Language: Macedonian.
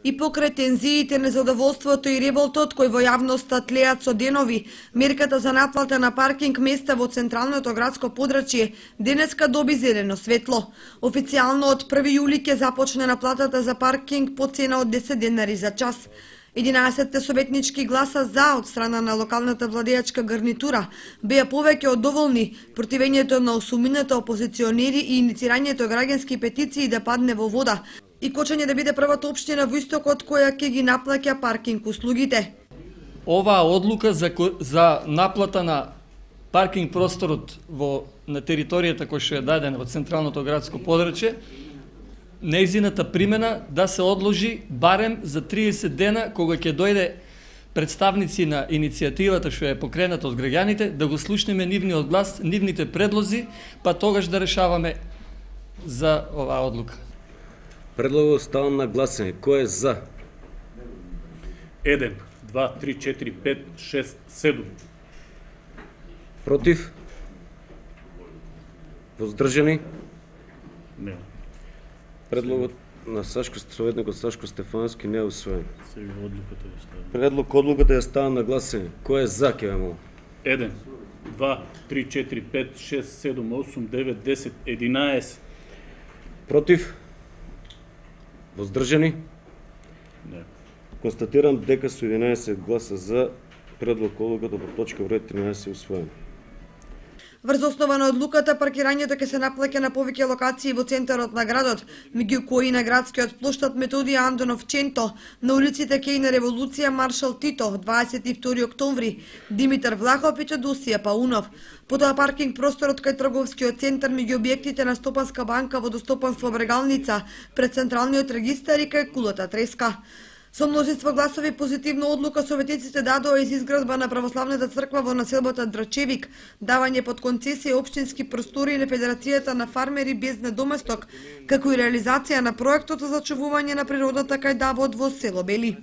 И покрај тензиите, незадоволството и револтот кој во јавноста тлеат со денови, мерката за наплата на паркинг места во централното градско подрачје денеска доби зелено светло. Официјално од 1 јули ќе започне наплатата за паркинг по цена од 10 денари за час. 11 советнички гласа за од страна на локалната владеачка гарнитура беа повеќе од доволни. Противењето на осумината опозиционери и иницирањето граѓански петиции да падне во вода и Кочање да биде првата општина во Истокот која ќе ги наплаќа паркинг услугите. Оваа одлука за наплата на паркинг просторот на територијата која што е дадена во централното градско подрачје, нејзината примена да се одложи барем за 30 дена, кога ќе дојде представници на иницијативата што е покрената од граѓаните, да го слушнеме нивниот глас, нивните предлози, па тогаш да решаваме за оваа одлука. Предлогот ставам на гласење. Кој е за? 1, 2, 3, 4, 5, 6, 7. Против? Воздржани? Не. Предлогот на советникот Сашко Стефановски не е усвоен. Сега одлуката ја ставам. Предлог одлуката ја ставам на гласење. Кој е за, ќе ве молам? 1, 2, 3, 4, 5, 6, 7, 8, 9, 10, 11. Против? Воздржани? Не. Констатирам дека со 11 гласа за, предлог одлуката по точка број 13 е усвоен. Врз основа на одлуката, паркирањето ќе се наплаќа на повеќе локации во центарот на градот, меѓу кои на градскиот плоштад Методија Андонов Ченто, на улиците Кејна Револуција Маршал Тито, 22 октомври, Димитар Влахов и Теодосија Паунов. Потоа паркинг просторот кај трговскиот центар меѓу објектите на Стопанска банка, Водостопанство Брегалница, пред централниот регистар и кај кулата Треска. Со множество гласови позитивна одлука советниците дадоа из изградба на православната црква во населбата Драчевик, давање под концесија општински простори на Федерацијата на фармери без недоместок, како и реализација на проектот за зачувување на природната кај Давод во село Бели.